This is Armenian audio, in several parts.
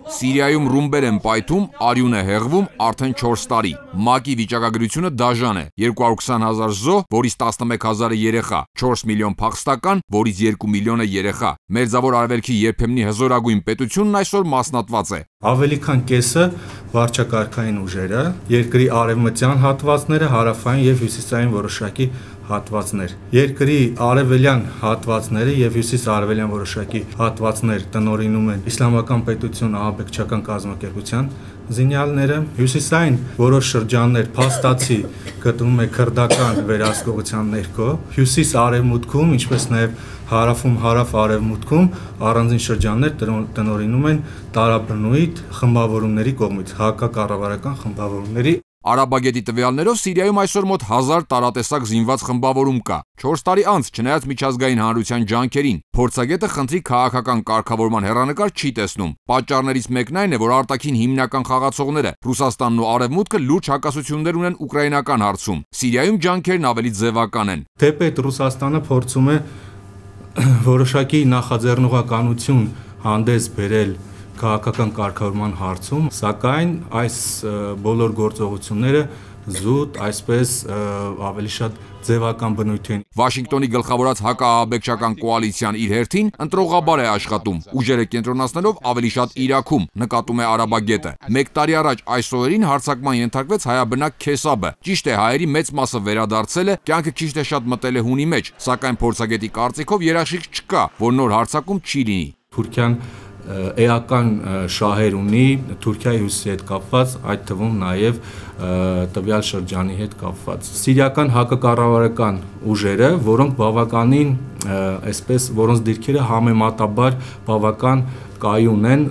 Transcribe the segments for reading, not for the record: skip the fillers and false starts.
Սիրիայում ռումբեր են պայթում, արյուն է հեղվում արդեն 4 տարի։ ՄԱԿ-ի վիճակագրությունը դաժան է՝ 220,000 զոհ, որից 11,000-ը երեխա, 4 միլիոն փախստական, որից 2 միլիոնը երեխա։ Մերձավոր Արևելքի երբեմնի հզորագույն պետությունն այսօր մասնատված է։ Ավելի քան կեսը վարչակարգային ուժերը, երկրի արևմտյան հատվածները, հարավային եւ հյուսիսային որոշակի հատվածներ։ Երկրի արևելյան հատվածները եւ հյուսիս-արևելյան որոշակի հատվածներ տնօրինում են Իսլամական պետություն ահաբեկչական կազմակերպության զինյալները, հյուսիսային որոշ շրջաններ փաստացի գտնվում է քրդական վերահսկողության ներքո, հյուսիս-արևմուտքում, ինչպես նաեւ հարավում հարավ-արևմուտքում առանձին շրջաններ տնօրինում են տարաբնույթ խմբավորումների կողմից, հակակառավարական խմբավորումների։ Արաբագետի տվյալներով Սիրիայում այսօր մոտ 1000 տարատեսակ զինված խմբավորում կա։ 4 տարի անց, չնայած միջազգային հանրության ջանքերին, փորձագետը խնդրի քաղաքական կարգավորման հեռանկար չի տեսնում։ Պատճառներից մեկն այն է, որ արտաքին հիմնական խաղացողները Ռուսաստանն ու Արևմուտքը լուրջ հակասություններ ունեն ուկրաինական հարցում։ Սիրիայում ջանքերն ավելի ձևական են։ Թեպետ Ռուսաստանը փորձում է որոշակի նախաձեռնողականություն հանդես բերել քաղաքական կարգավորման հարցում, սակայն այս բոլոր գործողությունները զուտ, այսպես ավելի շատ ձևական բնույթ են։ Վաշինգտոնի գլխավորած հակաահաբեկչական կոալիցիան իր հերթին ընտրողաբար է աշխատում, ուժերը կենտրոնացնելով ավելի շատ Իրաքում, նկատում է արաբագետը։ 1 տարի առաջ այս օրերին հարձակման ենթարկվեց հայաբնակ Քեսաբը։ Ճիշտ է, հայերի մեծ մասը վերադարձել է, կյանքը քիչ թե շատ մտել է հունի մեջ, սակայն փորձագետի կարծիքով երաշխիք չկա, որ նոր հարձակում չի լինի։ Թուրքիան էական շահեր ունի Թուրքիայի հյուսիսի հետ կապված, այդ թվում նաև տվյալ շրջանի հետ կապված։ Սիրիական հակակառավարական ուժերը, որոնք բավականին, այսպես, որոնց դիրքերը համեմատաբար բավական կայուն են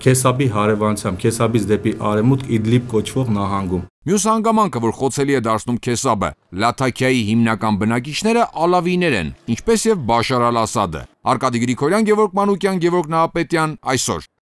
Քեսաբի հարևանությամբ, Քեսաբից դեպի արևմուտք Իդլիբ կոչվող նահանգում։ Մյուս հանգամանքը, որ խոցելի է դարձնում Քեսաբը, Լաթաքիայի հիմնական բնակիչները ալավիներ են, ինչպես եւ Բաշար ալ-Ասադը։ Արկադի Գրիգորյան, Գևորգ Մանուկյան, Գևորգ Նահապետյան, այսօր։